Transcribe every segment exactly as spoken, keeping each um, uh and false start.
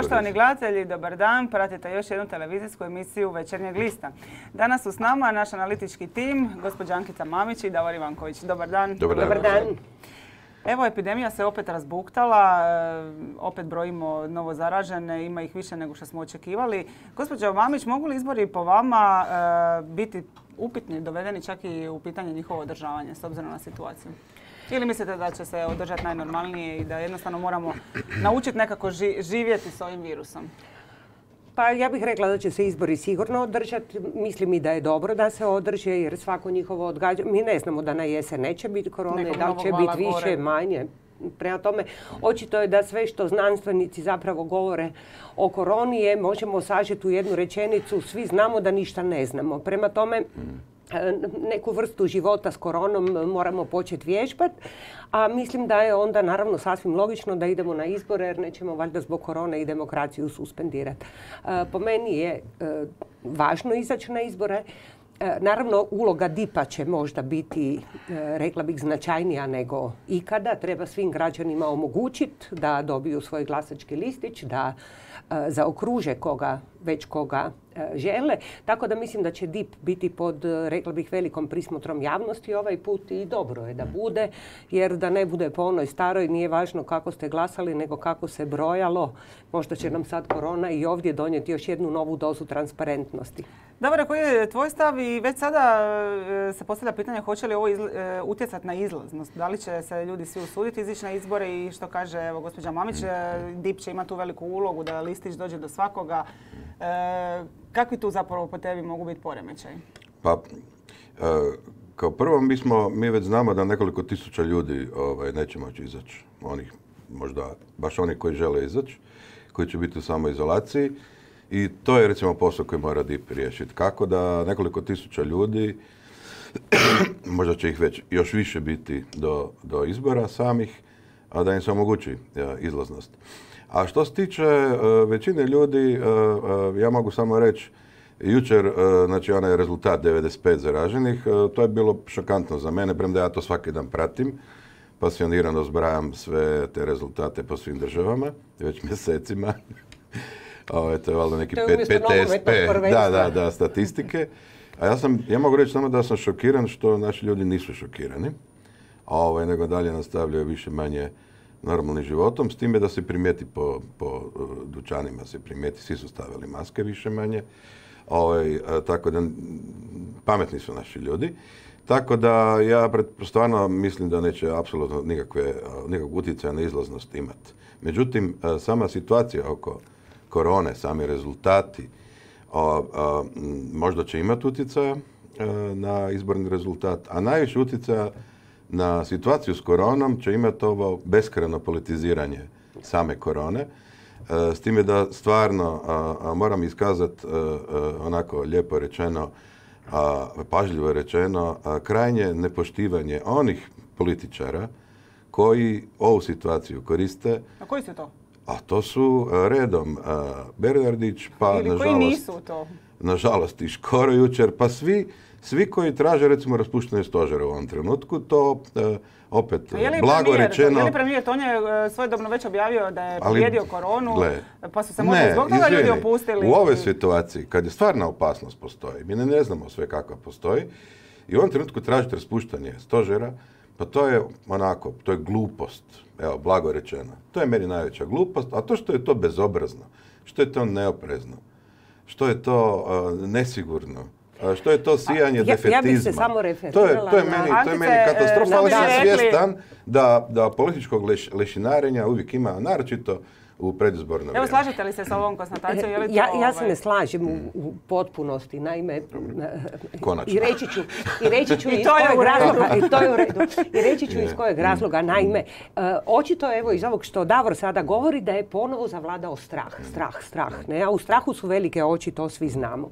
Poštovani gledatelji, dobar dan. Pratite još jednu televizijsku emisiju Večernjeg lista. Danas su s nama naš analitički tim, gospođa Ankica Mamić i Davor Ivanković. Dobar dan. Dobar dan. Dobar dan. Evo, epidemija se opet razbuktala, opet brojimo novo zaražene, ima ih više nego što smo očekivali. Gospođo Mamić, mogu li izbori po vama biti upitni, dovedeni čak i u pitanje njihovo održavanje s obzirom na situaciju? Ili mislite da će se održati najnormalnije i da jednostavno moramo naučiti nekako živjeti s ovim virusom? Pa ja bih rekla da će se izbori sigurno održati. Mislim i da je dobro da se održe jer svako njihovo odgađanje. Mi ne znamo da na jesen neće biti korone, da li će biti više, manje. Prema tome, očito je da sve što znanstvenici zapravo govore o koroni je, možemo sažeti u jednu rečenicu, svi znamo da ništa ne znamo. Prema tome, neku vrstu života s koronom moramo početi vježbati, a mislim da je onda naravno sasvim logično da idemo na izbore jer nećemo valjda zbog korone i demokraciju suspendirati. Po meni je važno izaći na izbore. Naravno, uloga D I P-a će možda biti, rekla bih, značajnija nego ikada. Treba svim građanima omogućiti da dobiju svoj glasački listić, da zaokruže koga, već koga žele. Tako da mislim da će D I P biti pod, rekla bih, velikom prismotrom javnosti ovaj put i dobro je da bude, jer da ne bude po onoj staroj, nije važno kako ste glasali, nego kako se brojalo. Možda će nam sad korona i ovdje donijeti još jednu novu dozu transparentnosti. Dobro, koji je tvoj stav i već sada se postavlja pitanje hoće li ovo utjecati na izlaznost? Da li će se ljudi svi usuditi izići na izbore i što kaže evo, gospođa Mamić, D I P će imati tu veliku ulogu da listić dođe do svakoga. E, kakvi tu zapravo po tebi mogu biti poremećaj? Pa, e, kao prvo mi, smo, mi već znamo da nekoliko tisuća ljudi ovaj, neće moći izaći. Onih, možda baš oni koji žele izaći, koji će biti u samoizolaciji. I to je recimo posao koji mora D I P riješiti. Kako da nekoliko tisuća ljudi, možda će ih već još više biti do, do izbora samih, a da im se omogući ja, izlaznost. A što se tiče uh, većine ljudi, uh, uh, ja mogu samo reći, jučer, uh, znači onaj rezultat devedeset pet zaraženih, uh, to je bilo šokantno za mene, premda ja to svaki dan pratim. Pasionirano zbrajam sve te rezultate po svim državama, već mjesecima. Ovo, to je valjda neki P T S P, da, da, da, statistike. A ja, sam, ja mogu reći samo da sam šokiran što naši ljudi nisu šokirani, ovaj, nego dalje nastavljaju više manje normalnim životom, s time da se primijeti po, po dućanima, se primijeti, svi su stavili maske više manje, ovaj, tako da pametni su naši ljudi. Tako da ja stvarno mislim da neće apsolutno nikakve, nikakvog utjecaja na izlaznost imati. Međutim, sama situacija oko korone, sami rezultati, o, o, možda će imati utjecaja na izborni rezultat, a najviše utjecaja na situaciju s koronom će imati ovo beskrajno politiziranje same korone. S time da stvarno a, a, moram iskazati onako lijepo rečeno, a, pažljivo rečeno, a, krajnje nepoštivanje onih političara koji ovu situaciju koriste. A koji su to? A to su redom uh, Bernardić, pa Ili nažalost, koji nisu to? Nažalost i Škoro jučer, pa svi, svi koji traže recimo raspuštanje stožera u ovom trenutku, to uh, opet blago rečeno... Je li premijer, on je uh, svojedobno već objavio da je pobjedio koronu, gle, pa su se možda zbog toga ljudi opustili? U ovoj situaciji, kad je stvarna opasnost postoji, mi ne, ne znamo sve kakva postoji, i u ovom trenutku tražiti raspuštanje stožera, pa to je onako, to je glupost, evo, blago rečeno. To je meni najveća glupost, a to što je to bezobrazno, što je to neoprezno, što je to uh, nesigurno, uh, što je to sijanje ja, defetizma. Ja bih se samo referirala. To je, to je meni, to je meni katastrofa, ali sam svjestan da, da političkog leš, lešinarenja uvijek ima, naročito u predizborno vrijeme. Evo, slažete li se s ovom konstatacijom? Je li to, ja, ja se ovaj... ne slažem u, u potpunosti, naime, Konačno. i reći ću, i reći ću iz kojeg razloga, i to je u redu, i reći ću iz kojeg razloga, naime, uh, očito evo iz ovog što Davor sada govori da je ponovo zavladao strah, strah, strah, ne, a u strahu su velike oči, to svi znamo.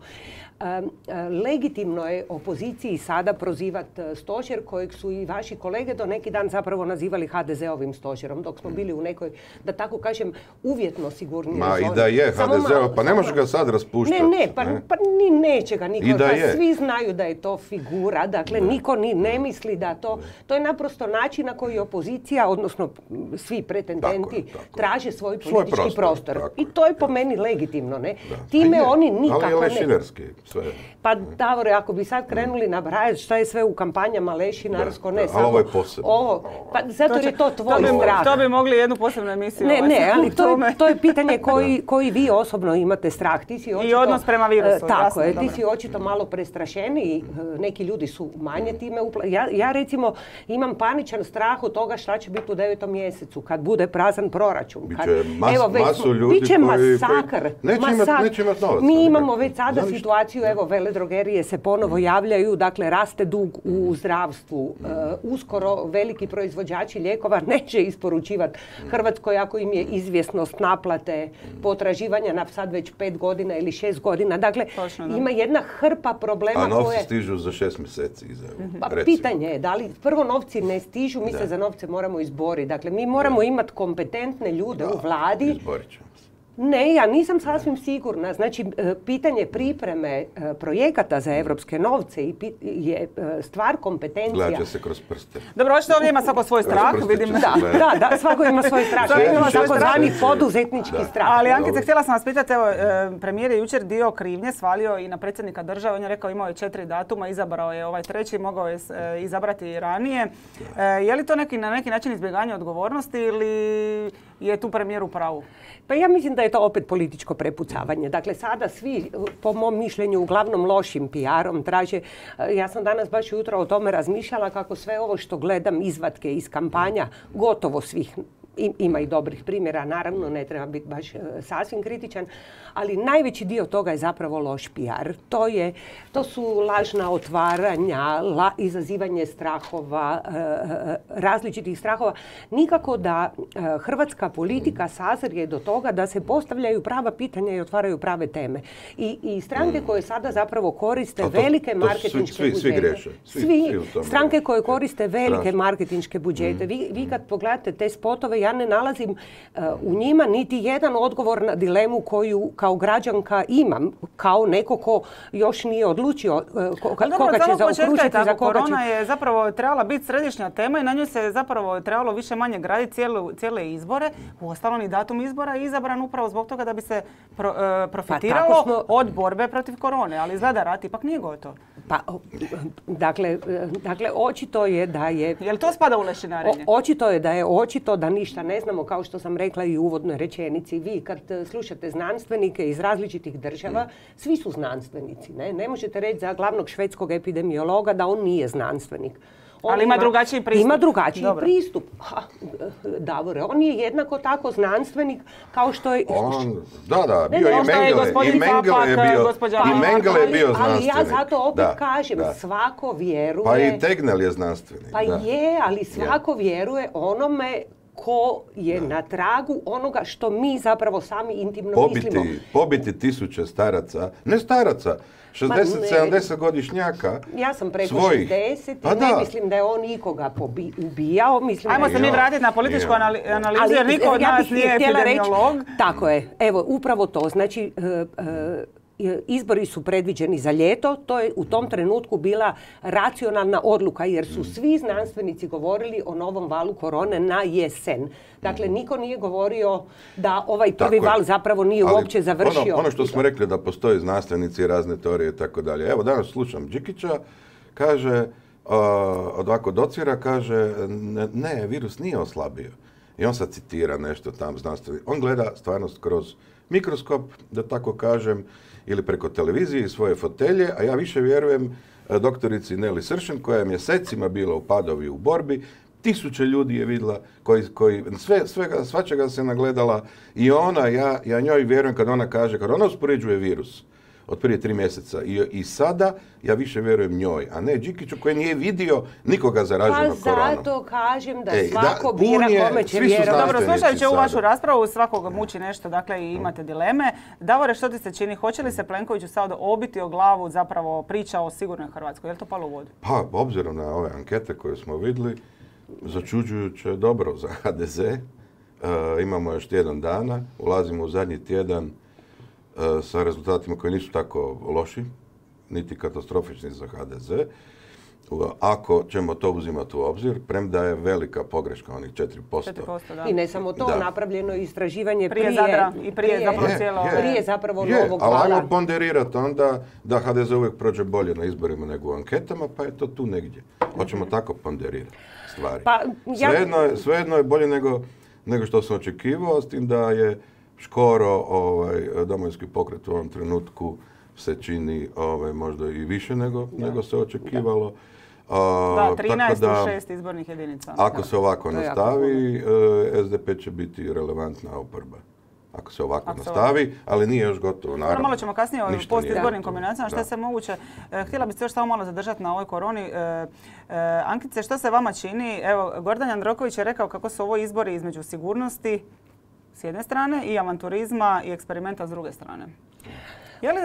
Legitimno je opoziciji sada prozivati stožer kojeg su i vaši kolege do neki dan zapravo nazivali ha de ze ovim stožerom, dok smo bili u nekoj, da tako kažem, uvjetno sigurnije Ma zone. i da je ha de ze, pa ne može ga sad raspuštati. Ne, ne, pa, ne? pa ni neće ga niko. Da pa svi znaju da je to figura, dakle ne. Niko ni ne misli da to... Ne. To je naprosto način na koji opozicija, odnosno svi pretendenti, tako, tako. traže svoj politički svoj prostor. prostor. I to je po meni legitimno, ne? Da. Time je, oni nikako ali je lešinerski, sve. Pa Davore, ako bi sad krenuli nabrajati šta je sve u kampanjama lešinarsko, ne samo... ovo je posebno. Ovo, pa zato jer je to tvoj to bi, strah. To bi mogli jednu posebnu emisiju. Ne, ne, ali to je, to je pitanje koji, koji vi osobno imate strah. Ti si očito, i odnos prema virusu. Tako jasno, je, dobro. Ti si očito malo prestrašeniji, neki ljudi su manje time upla... Ja, ja recimo imam paničan strah od toga šta će biti u devetom mjesecu, kad bude prazan proračun. Kad, biće mas, evo, već, masu ljudi biće koji... masakr. Neće masak. imati neće imat novaca. Mi imamo već sada Zaviš? situaciju, evo, veledrogerije se ponovo javljaju, dakle, raste dug u zdravstvu. Uh, uskoro veliki proizvođači lijekova neće isporučivati Hrvatskoj ako im je izvjesnost naplate potraživanja na sad već pet godina ili šest godina. Dakle, Točno, ima jedna hrpa problema koje... A novci koje... stižu za šest mjeseci iza. Pa, pitanje je, da li prvo novci ne stižu, mi se za novce moramo izboriti. Dakle, mi moramo imati kompetentne ljude da, u vladi. Izborit ćemo se. Ne, ja nisam sasvim sigurna. Znači, pitanje pripreme projekata za evropske novce je stvar kompetencija. Gledat će se kroz prste. Dobro, očito ovdje ima svako svoj strah, vidim. Da, da, da, svako ima svoj strah. Svako ima takozvani poduzetnički strah. Ali Ankice, htjela sam vas pitati, evo, premijer je jučer dio krivnje svalio i na predsjednika države. On je rekao imao je četiri datuma, izabrao je ovaj treći, mogao je izabrati i ranije. Je li to neki, na neki način izbjeganje odgovornosti ili je tu premijer u pravu? Pa ja mislim da je to opet političko prepucavanje. Dakle, sada svi, po mom mišljenju, uglavnom lošim P R-om traže... Ja sam danas baš jutro o tome razmišljala kako sve ovo što gledam izvatke iz kampanja, gotovo svih, ima i dobrih primjera, naravno, ne treba biti baš sasvim kritičan, ali najveći dio toga je zapravo loš P R. To, je, to su lažna otvaranja, la, izazivanje strahova, različitih strahova. Nikako da hrvatska politika sazrije do toga da se postavljaju prava pitanja i otvaraju prave teme. I, i stranke koje sada zapravo koriste to, velike to marketinške svi, budžete. Svi greše. Svi, svi, svi stranke koje koriste velike Strašno. marketinške budžete. Vi, vi kad pogledate te spotove, ja ne nalazim uh, u njima niti jedan odgovor na dilemu koju kao građanka imam, kao neko ko još nije odlučio uh, ko, dobro, koga će zaokružiti, za koga će... Korona je zapravo trebala biti središnja tema i na nju se zapravo trebalo više manje graditi cijele, cijele izbore. Uostalom i datum izbora je izabran upravo zbog toga da bi se pro, uh, profitiralo pa smo... od borbe protiv korone, ali izgleda rat ipak nije gotov. Pa, dakle, dakle, očito je da je... Je li to spada u lešinarenje? O, očito je da je očito da ništa ne znamo, kao što sam rekla i u uvodnoj rečenici. Vi kad slušate znanstvenike iz različitih država, svi su znanstvenici. Ne, ne možete reći za glavnog švedskog epidemiologa da on nije znanstvenik. On ali ima, ima drugačiji pristup. Ima drugačiji Dobro. pristup. Ha, Davore, on je jednako tako znanstvenik kao što je... On, da, da, bio ne, i Mengele. I Mengele je bio, i Mengele je bio znanstvenik. Ali ja zato opet da, kažem, da. svako vjeruje... Pa i Tegnell je znanstvenik. Pa da. je, ali svako vjeruje onome ko je da. na tragu onoga što mi zapravo sami intimno pobiti, mislimo. Pobiti tisuće staraca, ne staraca, šezdeset sedamdeset godišnjaka. Ja sam preko svojih. šezdeset pa i ne da. mislim da je on ikoga pobi, ubijao. Mislim Ajmo da se mi vratiti na političku anali, analizu jer niko od nas nije epidemiolog. Reći, tako je, evo upravo to. Znači, uh, uh, izbori su predviđeni za ljeto, to je u tom trenutku bila racionalna odluka jer su svi znanstvenici govorili o novom valu korone na jesen. Dakle, niko nije govorio da ovaj prvi tako val je. zapravo nije ali uopće završio. Ono, ono što smo rekli da postoje znanstvenici i razne teorije i tako dalje. Evo danas slušam Đikića, kaže, uh, ovako docira, kaže, ne, ne, virus nije oslabio. I on sad citira nešto tam znanstveni. On gleda stvarnost kroz mikroskop, da tako kažem, ili preko televizije i svoje fotelje, a ja više vjerujem doktorici Neli Sršen, koja je mjesecima bila u Padovi u borbi, tisuće ljudi je vidjela, koji, koji sve, svega, svačega se nagledala i ona, ja, ja njoj vjerujem kad ona kaže, kad ona uspoređuje virus od prije tri mjeseca i, i sada, ja više vjerujem njoj, a ne Đikiću koji nije vidio nikoga zaraženog pa koronom. Pa zato kažem da Ej, svako da, bira je, kome će vjerovati. Dobro, slušajući ovu vašu raspravu, svakoga muči nešto, dakle i imate dileme. Davore, što ti se čini? Hoće li se Plenkoviću sad obiti o glavu zapravo priča o sigurnoj Hrvatskoj? Je li to palo u vodu? Pa, obzirom na ove ankete koje smo vidjeli, začuđujuće dobro za H D Z, E, imamo još tjedan dana, ulazimo u zadnji tjedan e, sa rezultatima koji nisu tako loši, niti katastrofični za ha de ze. Ako ćemo to uzimati u obzir, premda je velika pogreška, onih četiri posto. četiri posto da. I ne samo to, da. Napravljeno istraživanje prije, prije Zadra i prije, prije zapravo je, cijelo... Je, prije zapravo je, novog ali vala. ajmo ponderirati onda da ha de ze uvijek prođe bolje na izborima nego u anketama, pa je to tu negdje. Hoćemo tako ponderirati stvari. Pa, ja... Svejedno je, svejedno je bolje nego, nego što sam očekivao, s tim da je Škoro, ovaj, Domovinski pokret u ovom trenutku se čini ovaj, možda i više nego, nego se očekivalo. Da, trinaest u šest izbornih jedinica. Ako da. se ovako nastavi, es de pe će biti relevantna oporba. Ako se ovako ako nastavi, se... ali nije još gotovo, naravno. Malo ćemo kasnije o postizbornim kombinacijama, što da. se moguće. E, htjela bih se još samo malo zadržati na ovoj koroni. E, e, Ankice, što se vama čini? Evo, Gordan Jandroković je rekao kako su ovo izbori između sigurnosti s jedne strane i avanturizma i eksperimenta s druge strane. Je li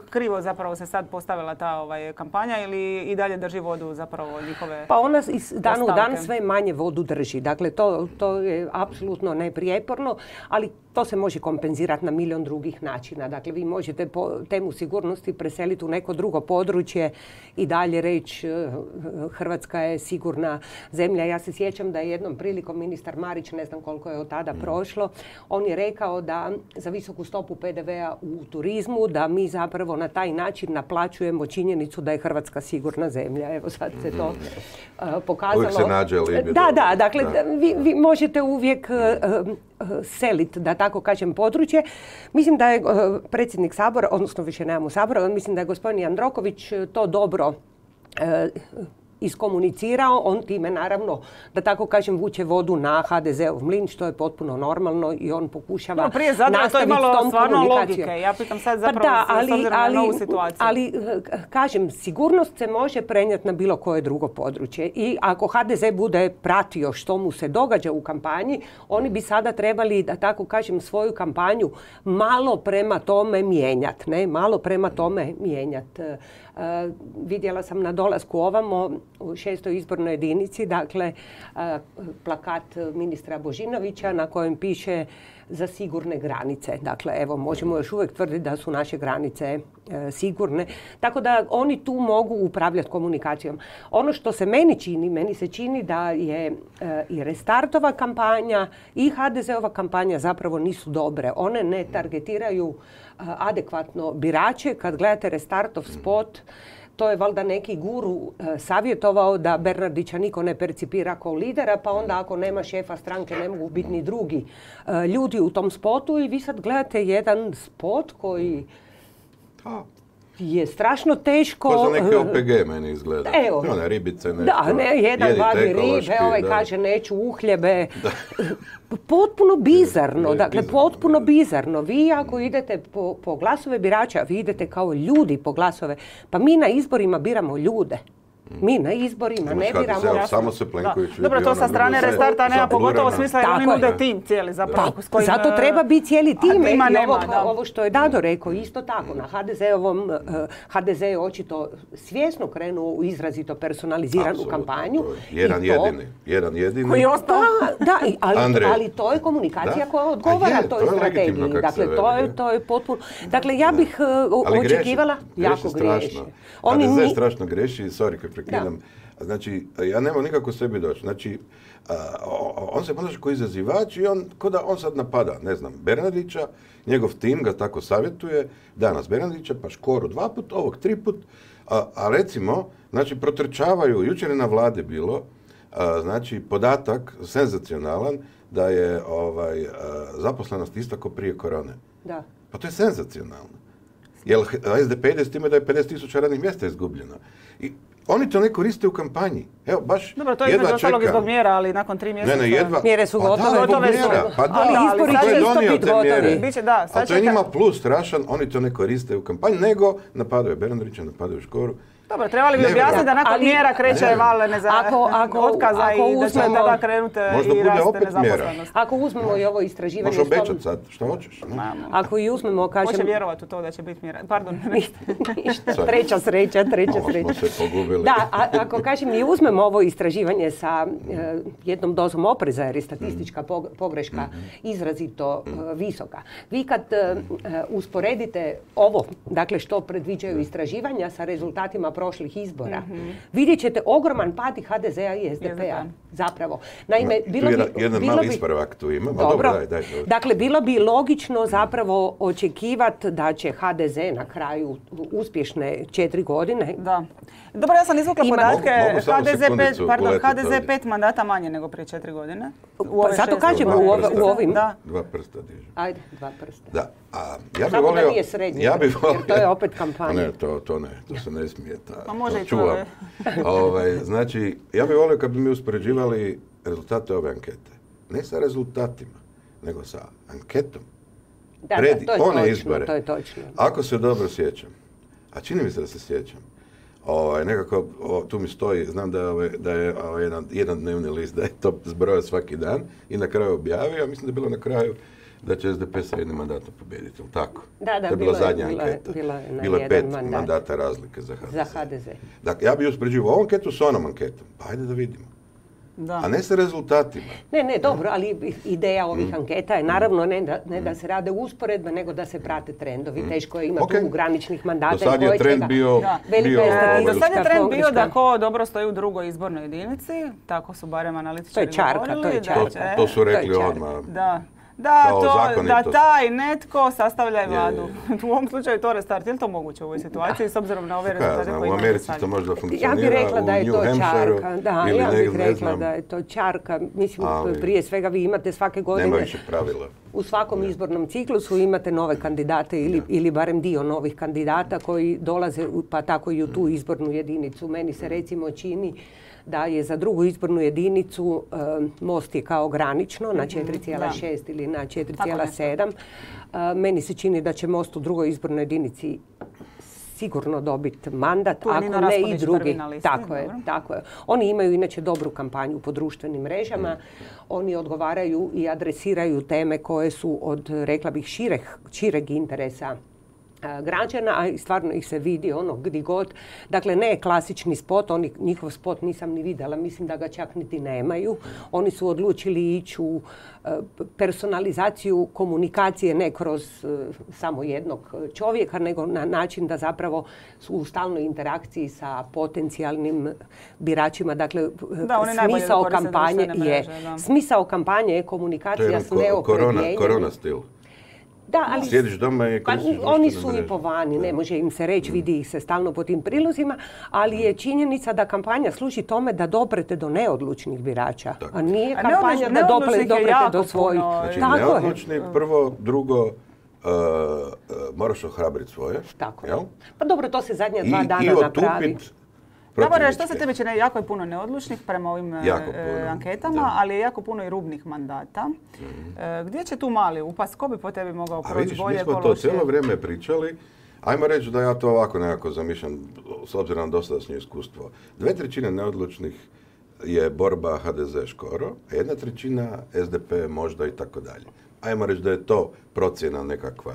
krivo zapravo se sad postavila ta ovaj, kampanja ili i dalje drži vodu zapravo njihove Pa ona iz dana u dan postavke? sve manje vodu drži. Dakle, to, to je apsolutno neprijeporno, ali to se može kompenzirati na milion drugih načina. Dakle, vi možete po temu sigurnosti preseliti u neko drugo područje i dalje reći Hrvatska je sigurna zemlja. Ja se sjećam da je jednom prilikom ministar Marić, ne znam koliko je od tada prošlo, on je rekao da za visoku stopu pe de vea u turizmu, da mi zapravo na taj način naplaćujemo činjenicu da je Hrvatska sigurna zemlja. Evo sad se to uh, pokazalo. Uvijek se nađe alibi. Da, da, dakle, da. Vi, vi možete uvijek uh, uh, seliti, da tako kažem, područje. Mislim da je uh, predsjednik Sabora, odnosno više nemamo Sabora, mislim da je gospodin Jandroković to dobro uh, iskomunicirao, on time naravno, da tako kažem, vuče vodu na ha de zeov mlin, što je potpuno normalno i on pokušava no, prije Zadra to je imalo stvarno logike. Ja pitam sad zapravo pa da, ali, s obzirom ali, na novu situaciju. Ali, kažem, sigurnost se može prenijeti na bilo koje drugo područje i ako ha de ze bude pratio što mu se događa u kampanji, oni bi sada trebali, da tako kažem, svoju kampanju malo prema tome mijenjati, ne? Malo prema tome mijenjati. Uh, vidjela sam na dolasku ovamo u šestoj izbornoj jedinici, dakle, uh, plakat ministra Božinovića na kojem piše za sigurne granice. Dakle, evo, možemo još uvijek tvrditi da su naše granice e, sigurne. Tako da oni tu mogu upravljati komunikacijom. Ono što se meni čini, meni se čini da je e, i Restartova kampanja i ha de zeova kampanja zapravo nisu dobre. One ne targetiraju a, adekvatno birače. Kad gledate Restartov spot, to je valjda neki guru e, savjetovao da Bernardića niko ne percipira kao lidera, pa onda ako nema šefa stranke ne mogu biti ni drugi e, ljudi u tom spotu i vi sad gledate jedan spot koji Ha. je strašno teško... Ko za neki o pe ge meni izgleda. Evo. One ribice nešto. Da, ne, jedan vadi ribe, ovaj da. kaže neću uhljebe. Potpuno bizarno, Je, dakle bizarno, potpuno da. bizarno. Vi ako idete po, po glasove birača, vi idete kao ljudi po glasove. Pa mi na izborima biramo ljude. Mi na izborima ne biramo... Evo, samo se Plenković vidi. Dobro, to sa strane Restarta nema pogotovo smisla jer oni nude tim cijeli zapravo. Pa, kojim, zato treba biti cijeli tim. Tima I nema, ovo, da. ovo što je Dado rekao, isto tako. Na ha de zeovom, uh, ha de ze je očito svjesno krenuo u izrazito personaliziranu Apsolutno, kampanju. Jedan I to, jedini. Jedan jedini. Koji je ostao. Da, da i- ali, Andrej. ali to je komunikacija Da? koja A odgovara je, toj to je legitimno strategiji. kako se Dakle, to veli, je, je. to je potpuno... Dakle, ja bih uh, Ali greši, očekivala... greši jako strašno. griješe. ha Oni de ze ni- strašno greši, sorry kad prekidam. Znači, ja nemam nikako sebi doći. Znači, a, on se ponaša kao izazivač i on, ko da on sad napada, ne znam, Bernardića, njegov tim ga tako savjetuje, danas Bernardića, pa Škoru dva put, ovog tri put, a, a recimo, znači, protrčavaju, jučer je na vladi bilo, a, znači, podatak senzacionalan da je ovaj, a, zaposlenost ista kao prije korone. Da. Pa to je senzacionalno. Jer es de pe ide s time da je pedeset tisuća radnih mjesta izgubljeno. I oni to ne koriste u kampanji. Evo, baš Dobro, to je jedva između ostalog i čekam. zbog mjera, ali nakon tri mjeseca... Ne, ne, jedva. Mjere su Pa gotove. da, zbog Gotove su. mjera. Pa da, Ali ali izbori sad će će isto donio biti te gotovi. mjere. Biće, da, sad A to je čeka- njima plus strašan, oni to ne koriste u kampanji, nego napadaju Bernardića, napadaju Škoru. Dobro, trebali bi Ne, objasniti da nakon ali- mjera kreće Ne. val neza... Ako- ako- otkaza ako i da će uzmemo- tada krenuti Možda i bude raste opet mjera. nezaposlenost. Ako uzmemo i ovo istraživanje... Možeš s tom- obećati sad, što hoćeš. Ne? Ma, Ako i uzmemo, kažem... Hoće vjerovati u to da će biti mjera. Pardon. Ništa. Treća sreća, treća Malo smo sreća. se pogubili. dobili. Da, a, ako kažem, mi uzmemo ovo istraživanje sa e, jednom dozom opreza, jer je statistička pogreška izrazito e, visoka. Vi kad e, usporedite ovo, dakle što predviđaju istraživanja sa rezultatima prošlih izbora, mm-hmm. vidjet ćete ogroman pad i ha de zea i es de pea. Zapravo. Naime, bilo bi... Jedan bilo mali bi, ispravak tu ima. Dobro. dobro daj, daj, daj. Dakle, bilo bi logično zapravo očekivati da će ha de ze na kraju uspješne četiri godine. Da. Dobro, ja sam izvukla Ima- podatke. Mogu- mogu samo ha de ze pet, sekundicu pardon, uletiti ha de ze ovdje. pet mandata manje nego prije četiri godine. U Pa ove zato šest kažem, godina. u, ove, u ovim... Da. Dva prsta dižu. Ajde, dva prsta. Da. A, ja bi Samo volio, da nije srednji, ja bi volio, jer to je opet kampanja. Ne, to, to ne, to se ne smije. Ta, Pa može to i to, čuvam. je. ovaj, znači, ja bih volio kad bi mi uspoređivali rezultate ove ankete. Ne sa rezultatima, nego sa anketom. Da, Pred da, to je one točno, izbore. to je točno. Ako se dobro sjećam, a čini mi se da se sjećam, ovaj, nekako o, tu mi stoji, znam da je, ovaj, da je ovaj, jedan, jedan dnevni list, da je to zbrojao svaki dan i na kraju objavio, mislim da je bilo na kraju da će es de pe sa jednim mandatom pobijediti, ili tako? Da, da, to je bilo bila je- zadnja bilo je- anketa. bilo je na bilo je jedan pet mandat. mandata razlike za ha de ze. Za ha de ze. Dakle, ja bih uspoređivao ovu anketu s onom anketom, pa ajde da vidimo. Da. A ne sa rezultatima. Ne, ne, dobro, ali ideja ovih Mm. anketa je naravno ne da, ne da se rade usporedbe, nego da se prate trendovi. Teško je imati Ok. tu graničnih mandata. Do sad i je koje trend čega. bio... Da. Velika bio je E, ovaj, do sad je statistička trend bio pogreška. da ko dobro stoji u drugoj izbornoj jedinici, tako su barem analitičari To je čarka, to je govorili, da čarka. to, će- to su rekli To je čarka. odmah. Da. Da, Kao to, da zakonitost. taj netko sastavlja i Je, vladu. U ovom slučaju to restart. Je li to moguće u ovoj situaciji s obzirom na ove Kaj ja rezultate znam, koje u imamo Americi sad? to možda Ja funkcionira, bih rekla da u je New to Hampshireu čarka. Da, ili ja ne, bih ne rekla znam. da je to čarka. Mislim, Ali- prije svega vi imate svake godine... Nema više pravila. U svakom izbornom ciklusu imate nove kandidate ili, ili barem dio novih kandidata koji dolaze, u- pa tako i u tu izbornu jedinicu. Meni se recimo čini da je za drugu izbornu jedinicu e, Most je kao granično na četiri zarez šest ili na četiri zarez sedam. E, meni se čini da će Most u drugoj izbornoj jedinici sigurno dobiti mandat, Tu je Nino ako ne i Raspudić drugi. prvi na listi, Tako je, dobro. tako je. Oni imaju inače dobru kampanju po društvenim mrežama. Oni odgovaraju i adresiraju teme koje su od, rekla bih, šireg, šireg interesa a, građana, a i stvarno ih se vidi ono gdje god. Dakle, ne klasični spot, oni, njihov spot nisam ni vidjela, mislim da ga čak niti nemaju. Oni su odlučili ići u e, personalizaciju komunikacije ne kroz e, samo jednog čovjeka, nego na način da zapravo su u stalnoj interakciji sa potencijalnim biračima. Dakle, Da, oni najbolje smisao koriste kampanje društvene je mreže, da. smisao kampanje je To je komunikacija jedan s ko- korona, neopredjeljenjem. korona stil. Da, ali Sjediš doma i pa, koristiš oni društvene su i mreže. po vani, ne može im se reći, vidi ih se stalno po tim prilozima, ali je činjenica da kampanja služi tome da doprete do neodlučnih birača, Tako. a nije A kampanja neodlučnih- da dople- neodlučnih je doprete jako do svojih. puno. Znači, Tako je. neodlučni, prvo, drugo, uh, uh, moraš ohrabriti svoje. Tako je. jel? Pa dobro, to se zadnja I, dva i dana napravi. otupit Dobro, što se protivničke. tebi čini, jako je puno neodlučnih prema ovim e, Jako puno, anketama, da. ali je jako puno i rubnih mandata. E, gdje će tu mali upast? Ko bi po tebi mogao A proći vidiš, mi bolje, smo ko to lošije? cijelo vrijeme pričali. Ajmo reći da ja to ovako nekako zamišljam, s obzirom na dosadašnje iskustvo. Dve trećine neodlučnih je borba ha de ze Škoro, a jedna trećina es de pe možda i tako dalje. Ajmo reći da je to procjena nekakva.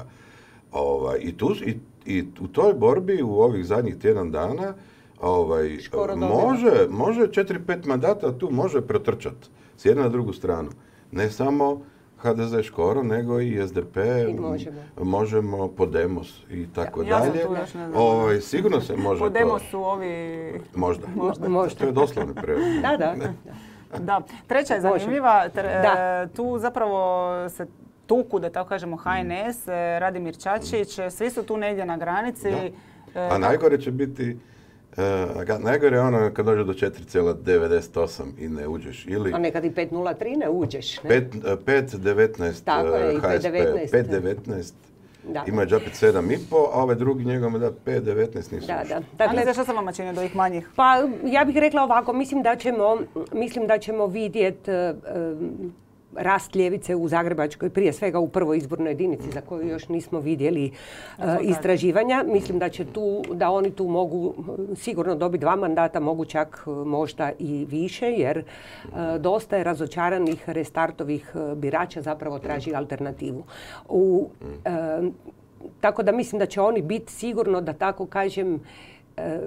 Ovaj, i, tu, i, I u toj borbi u ovih zadnjih tjedan dana ovaj, Škoro dobiva. može, može četiri pet mandata tu može protrčati s jedne na drugu stranu. Ne samo ha de ze Škoro, nego i es de pe, I Možemo. Možemo, Podemos i tako Ja sam dalje. tu još ne znam. Ovaj, sigurno se može Podemos to. su ovi... Možda. Možda. Možda. To je doslovni prevod. Da, da. Da. Treća je Može. zanimljiva. Tre- Da. e, Tu zapravo se tuku, da tako kažemo, ha en es, e, Radimir Čačić, e, svi su tu negdje na granici. Da. E, A najgore će biti, uh, ga- najgore je ono kad dođe do četiri zarez devedeset osam i ne uđeš. Ili A nekad i pet nula tri ne uđeš. Ne? pet devetnaest Tako je, i ha es pe, pet devetnaest. pet devetnaest Da. ima je džapit sedam i pol, a ovaj drugi njegov mu da pet devetnaest nisu Da, ušli. da. Dakle, Dakle, što se vama čini do ovih manjih? pa ja bih rekla ovako, mislim da ćemo, mislim da ćemo vidjeti rast ljevice u Zagrebačkoj, prije svega u prvoj izbornoj jedinici za koju još nismo vidjeli e, istraživanja. Mislim da će tu, da oni tu mogu e, sigurno dobiti dva mandata, mogu čak e, možda i više, jer e, dosta je razočaranih restartovih e, birača zapravo traži alternativu. U, e, tako da mislim da će oni biti sigurno, da tako kažem, e,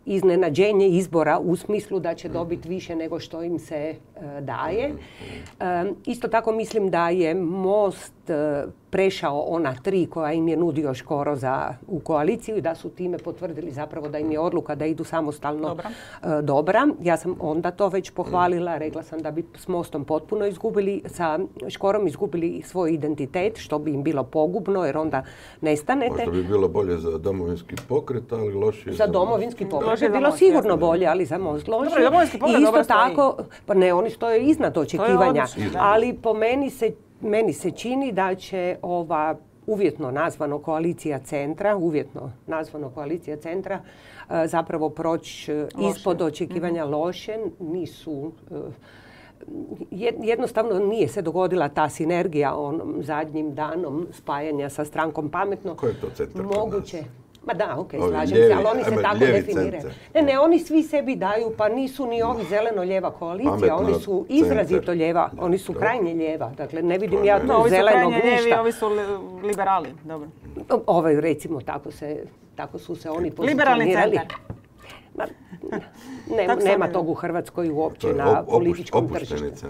iznenađenje izbora u smislu da će dobiti više nego što im se e, daje. E, isto tako mislim da je Most e, prešao ona tri koja im je nudio Škoro za, u koaliciju i da su time potvrdili zapravo da im je odluka da idu samostalno dobra. E, dobra. Ja sam onda to već pohvalila, rekla sam da bi s Mostom potpuno izgubili, sa Škorom izgubili svoj identitet, što bi im bilo pogubno jer onda nestanete. Možda bi bilo bolje za Domovinski pokret, ali lošije za... Za Domovinski pokret je bilo sigurno jasno bolje, ali za Most lošije. Domovinski pokret I isto tako, stoji. Pa ne, oni stoje iznad očekivanja, ali po meni se, meni se čini da će ova uvjetno nazvano koalicija centra, uvjetno nazvano koalicija centra, zapravo proći ispod očekivanja mm-hmm. loše. Nisu... Jednostavno nije se dogodila ta sinergija onom zadnjim danom spajanja sa strankom Pametno. Ko je to centar? Moguće. Ma da, ok, ovi slažem ljevi, se, ali oni se tako definiraju. Centar. Ne, ne, oni svi sebi daju, pa nisu ni ovi zeleno-lijeva koalicija, Pametno, oni su izrazito centar. Lijeva, oni su krajnje lijeva. Dakle, ne vidim ja tu no, zelenog ništa. Lijevi, ovi su li, liberali, dobro. Ovaj, recimo, tako, se, tako su se oni pozicionirali. Liberalni centar. Ma, ne, nema tog u Hrvatskoj uopće na političkom tržištu.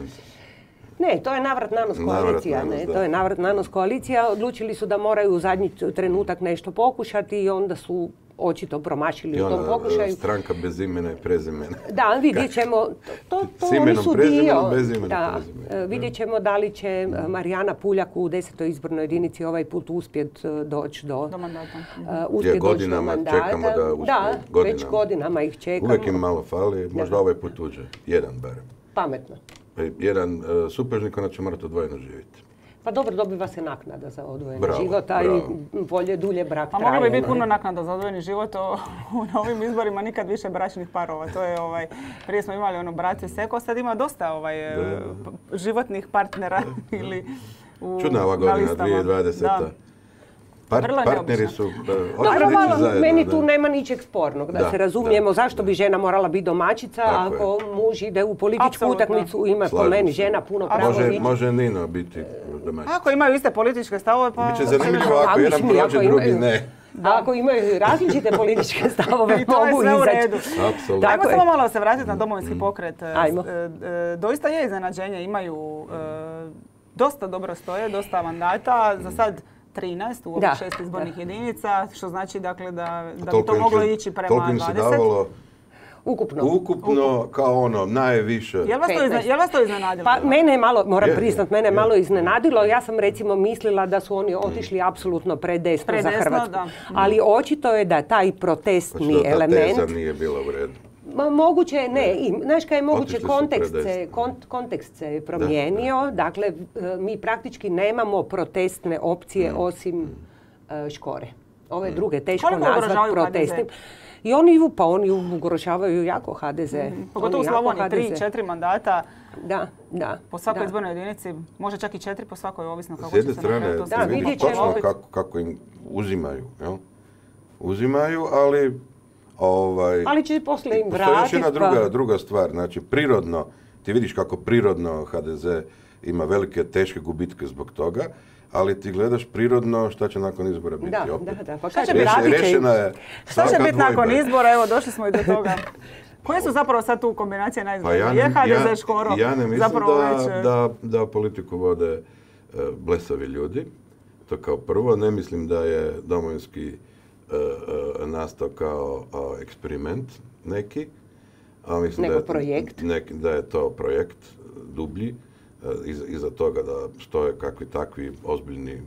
Ne, to je navrat nanos koalicija. Navrat, ne, to je navrat nanos koalicija. Odlučili su da moraju u zadnji trenutak nešto pokušati i onda su očito promašili u tom pokušaju. Stranka bez imena i prezimena. Da, vidjet ćemo. To, to oni su dio. Da, vidjet ćemo da li će Marijana Puljak u desetoj izbornoj jedinici ovaj put uspjeti doći do, do mandata. Uh, uspjet doći do mandata. Čekamo da uspije. Da, godinama. već godinama ih čekamo. Uvijek im malo fali, možda ovaj put uđe. Jedan barem. Pametno. Jedan uh, supružnik, onda će morati odvojeno živjeti. Pa dobro, dobiva se naknada za odvojeni bravo, život, a i bolje dulje brak traje. Pa moglo bi biti puno naknada za odvojeni život, o, na ovim izborima nikad više bračnih parova. To je, ovaj, prije smo imali ono braće seko, sad ima dosta ovaj, da. životnih partnera da. ili u, čudna ova godina, dvije tisuće dvadeseta. Da. Part, partneri su Dobro, malo, zajedno, meni tu da. nema ničeg spornog, da, da se razumijemo. Da, zašto da. bi žena morala biti domaćica, tako ako je. muž ide u političku Absolutno. utakmicu, ima po meni žena puno pravo može, biti. Može Nino biti domaćica. Ako imaju iste političke stavove, pa... Biće zanimljivo ako jedan prođe, drugi ne. Da. Ako imaju različite političke stavove, mogu izaći. Apsolutno. Ajmo samo malo se vratiti na Domovinski pokret. Ajmo. Doista je iznenađenje, imaju dosta dobro stoje, dosta mandata. Za sad trinaest u ovih šest izbornih jedinica, što znači dakle da, da bi to moglo ići prema dvadeset. Davalo ukupno. Ukupno kao ono najviše. Jel vas, izna, jel vas to iznenadilo? Pa mene je malo, moram je, priznat, mene je malo iznenadilo. Ja sam recimo mislila da su oni otišli apsolutno predesno, predesno za Hrvatsku. Da. Ali očito je da taj protestni Što element... Ta teza nije bila u redu. Ma, moguće, ne, i, znaš kaj je moguće, kontekst se, kont, kontekst se promijenio, da, da. dakle mi praktički nemamo protestne opcije mm. osim uh, Škore. Ove mm. druge teško nazvat protestnim. I oni, pa oni ugrožavaju jako ha de ze. Mm. Pogotovo u Slavoniji, tri, četiri mandata. Da, da. Po svakoj da. izbornoj jedinici, može čak i četiri po svakoj, ovisno kako će se na kraju to da, vidjeti točno kako, kako im uzimaju, jel? Uzimaju, ali... Ovaj, ali će poslije im vratiti. Još jedna druga, pa... druga stvar, znači prirodno, ti vidiš kako prirodno ha de ze ima velike, teške gubitke zbog toga, ali ti gledaš prirodno šta će nakon izbora biti da, opet. Da, da, pa šta će biti, šta će biti nakon izbora, evo došli smo i do toga. Koje su zapravo sad tu kombinacije najizbornije? Pa ja je ha de ze Škoro? Ja ne mislim da, već... da, da politiku vode uh, blesavi ljudi, to kao prvo. Ne mislim da je Domovinski Uh, uh, nastao kao uh, eksperiment neki. A mislim Nego da je, projekt. Nek, da je to projekt dublji. Uh, iza, iza toga da stoje kakvi takvi ozbiljni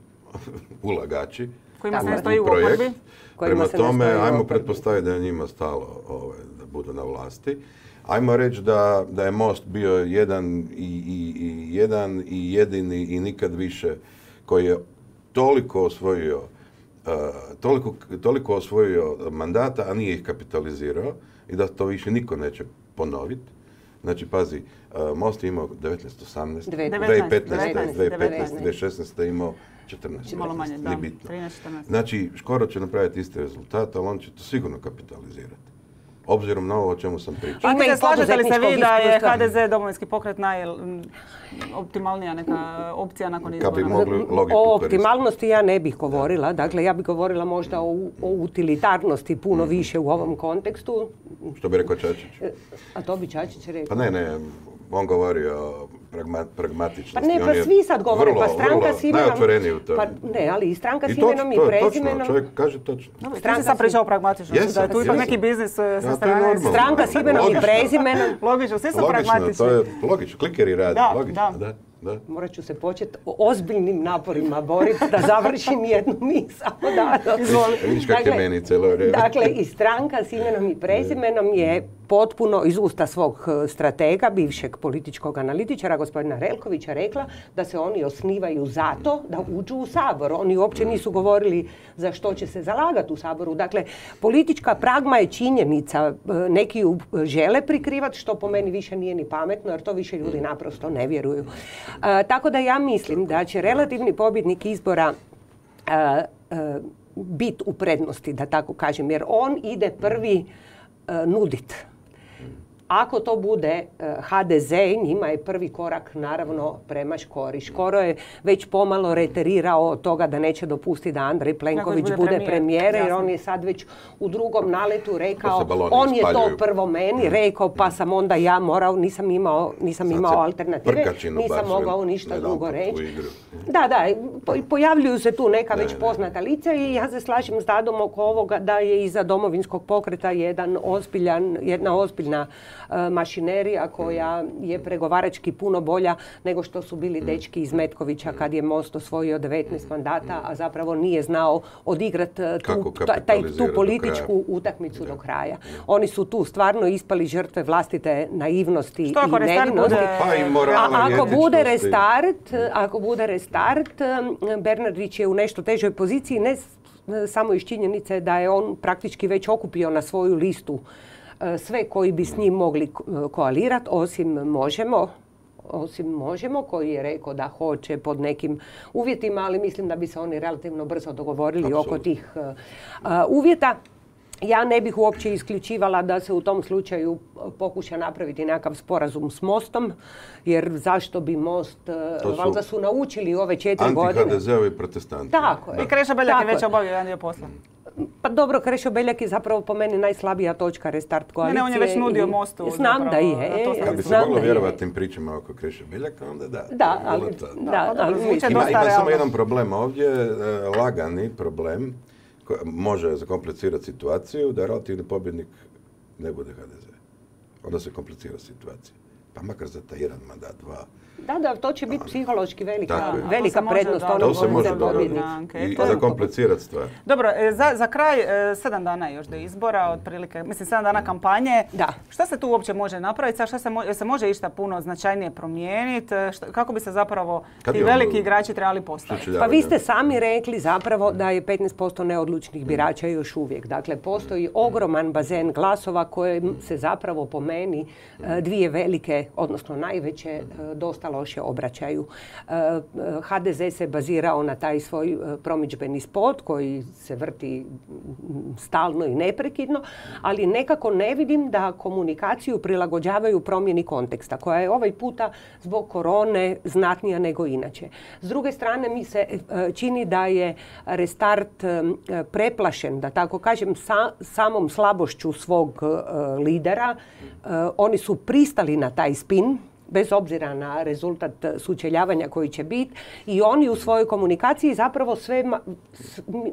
ulagači. Kojima se ne stoji u oporbi. Prema tome, ajmo pretpostaviti da je njima stalo ovaj, da budu na vlasti. Ajmo reći da, da je Most bio jedan i, i, i, jedan i jedini i nikad više koji je toliko osvojio Uh, toliko, toliko osvojio mandata, a nije ih kapitalizirao i da to više niko neće ponoviti. Znači, pazi, uh, Most je imao devetnaest, osamnaest, dvije tisuće petnaeste, dvije tisuće petnaeste, dvije tisuće šesnaeste je imao četrnaest. Malo manje, da. trinaest četrnaest. Znači, Škoro će napraviti isti rezultat, ali on će to sigurno kapitalizirati. obzirom na ovo o čemu sam pričao. Pa ne slažete li se vi da je ha de ze Domovinski pokret najoptimalnija neka opcija nakon izbora? O optimalnosti ja ne bih govorila. Dakle, ja bih govorila možda o, o utilitarnosti puno mm. više u ovom kontekstu. Što bi rekao Čačić? A to bi Čačić rekao. Pa ne, ne. On govori o pragma, pragmatičnosti. Pa ne, pa svi sad govore, vrlo, pa stranka s imenom... Najotvoreniji u tome. Pa ne, ali i stranka I s imenom i prezimenom... Točno, čovjek kaže točno. No, stranka sam pričao o pragmatičnosti, jesam, da je tu ipak neki biznis sa ja, strane. Stranka s imenom i prezimenom... Logično, svi su logično, pragmatični. To je logično, klikeri radi, da, logično, da. da. Da. Morat ću se početi ozbiljnim naporima boriti da završim jednu misao. Da, vidiš kak je meni cijelo vrijeme. Dakle, i stranka s imenom i prezimenom je potpuno iz usta svog stratega, bivšeg političkog analitičara, gospodina Relkovića, rekla da se oni osnivaju zato da uđu u Sabor. Oni uopće nisu govorili za što će se zalagati u Saboru. Dakle, politička pragma je činjenica. Neki ju žele prikrivati, što po meni više nije ni pametno, jer to više ljudi naprosto ne vjeruju. A, tako da ja mislim da će relativni pobjednik izbora a, a, biti u prednosti, da tako kažem, jer on ide prvi a, nudit. Ako to bude ha de ze, njima je prvi korak naravno prema Škori. Škoro je već pomalo reterirao od toga da neće dopustiti da Andrej Plenković bude, bude premijer, jer on je sad već u drugom naletu rekao, on je to prvo meni rekao, pa sam onda ja morao, nisam imao, nisam imao alternative, nisam mogao ništa drugo reći. Da, da, pojavljuju se tu neka već poznata lica i ja se slažem s Dadom oko ovoga da je iza Domovinskog pokreta jedan ozbiljan, jedna ozbiljna mašinerija koja je pregovarački puno bolja nego što su bili dečki iz Metkovića kad je Most osvojio devetnaest mandata, a zapravo nije znao odigrati tu, taj, tu političku utakmicu do kraja. Oni su tu stvarno ispali žrtve vlastite naivnosti i nevinosti. A ako bude restart, ako bude restart, Bernardić je u nešto težoj poziciji, ne samo iz činjenice da je on praktički već okupio na svoju listu sve koji bi s njim mogli koalirati, osim Možemo, osim Možemo, koji je rekao da hoće pod nekim uvjetima, ali mislim da bi se oni relativno brzo dogovorili Absolut. oko tih uh, uvjeta. Ja ne bih uopće isključivala da se u tom slučaju pokuša napraviti nekakav sporazum s Mostom, jer zašto bi Most, valjda su naučili ove četiri godine. Anti-ha de zeovi protestanti. Tako je. I Krešo Beljak je već obavio jedan dio posla. Pa dobro, Krešo Beljak je zapravo po meni najslabija točka restart koalicije. Ne, ne, on je već nudio Mostu. Znam da je. Kad bi se moglo vjerovati tim pričama oko Krešo Beljaka, onda da. Da, ali... Da, ali ima, ima samo jedan problem ovdje, lagani problem, može zakomplicirati situaciju, da relativni pobjednik ne bude ha de ze. Onda se komplicira situacija. Pa makar za taj jedan mandat, dva. Da, da, to će biti psihološki velika, velika prednost. To se može dobiti i zakomplicirati stvar. Dobro, za, za kraj, sedam dana još do izbora, otprilike, mislim, sedam dana kampanje. Da. Šta se tu uopće može napraviti? Šta se, mo- se može išta puno značajnije promijeniti? Kako bi se zapravo Kad ti veliki on, igrači trebali postaviti? Pa vi ste sami rekli zapravo da je petnaest posto neodlučnih birača još uvijek. Dakle, postoji ogroman bazen glasova koje se zapravo po meni dvije velike, odnosno najveće, dosta loše obraćaju. ha de ze se bazirao na taj svoj promidžbeni spot koji se vrti stalno i neprekidno, ali nekako ne vidim da komunikaciju prilagođavaju promjeni konteksta, koja je ovaj puta zbog korone znatnija nego inače. S druge strane, mi se čini da je restart preplašen, da tako kažem, sa, samom slabošću svog lidera. Oni su pristali na taj spin, bez obzira na rezultat sučeljavanja koji će biti, i oni u svojoj komunikaciji zapravo sve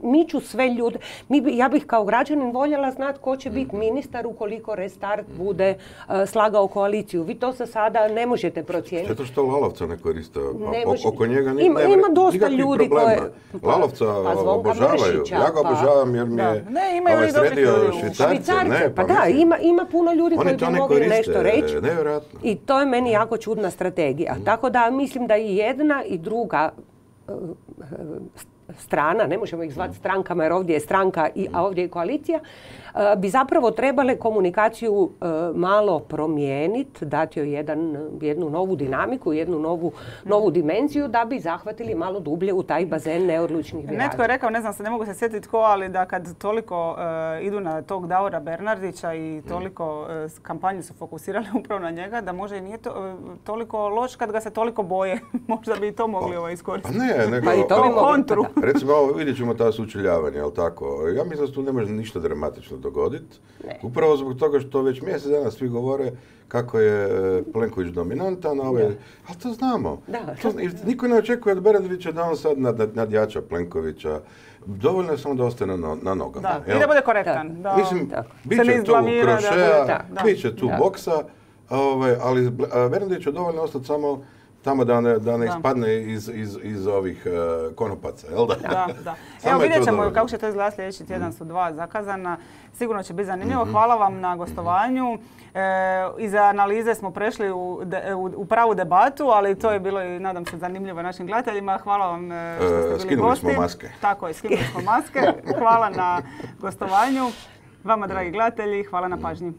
miču sve ljude. Mi, ja bih kao građanin voljela znati ko će biti ministar ukoliko restart bude uh, slagao koaliciju. Vi to za sada ne možete procijeniti. Zato što Lalovca ne koriste, ne o, oko njega ni, ima, nema ima dosta ljudi koje... Pa, Lalovca pa, obožavaju. Ja ga obožavam jer mi je ne, ovaj sredio Švicarce. Švicarce. Ne, pa, pa da, ima, ima puno ljudi koji bi mogli koriste, nešto reći. Nevjerojatno. I to je meni jako čudna strategija. Mm. Tako da mislim da i jedna i druga uh, strana, ne možemo ih zvati strankama jer ovdje je stranka, i, a ovdje je koalicija, uh, bi zapravo trebale komunikaciju malo promijeniti, dati joj jedan, jednu novu dinamiku, jednu novu, novu dimenziju da bi zahvatili malo dublje u taj bazen neodlučnih birača. Netko je rekao, ne znam se, ne mogu se sjetiti tko, ali da kad toliko uh, idu na tog Davora Bernardića i toliko uh, kampanje su fokusirali upravo na njega, da može i nije to, uh, toliko loš kad ga se toliko boje. Možda bi i to mogli ovaj iskoristiti. Pa ne, nego... Pa i to bi kontru. Recimo, ovo vidjet ćemo ta sučeljavanja, jel tako? Ja mislim da se tu ne može ništa dramatično dogoditi. Upravo zbog toga što već mjesec dana svi govore kako je Plenković dominantan, ove... ali to znamo. Da. To, niko ne očekuje od Bernardića da on sad nad, nad, nadjača Plenkovića. Dovoljno je samo da ostane na, na nogama. Da, i da bude korektan. Da, mislim, da. bit će tu krošeja, da, bit će tu da. boksa, ove, ali Bernardić je dovoljno ostati samo tamo da ne, da ne ispadne iz, iz, iz ovih uh, konopaca, jel da? Da, da. Evo vidjet ćemo kako će to izgledati, sljedeći tjedan su dva zakazana. Sigurno će biti zanimljivo. Mm-hmm. Hvala vam na gostovanju. E, iza analize smo prešli u, de, u, u pravu debatu, ali to je bilo i, nadam se, zanimljivo našim gledateljima. Hvala vam što ste bili skinuli gosti. Smo maske. Tako je, skinuli smo maske. Hvala na gostovanju. Vama, dragi gledatelji, hvala na pažnji.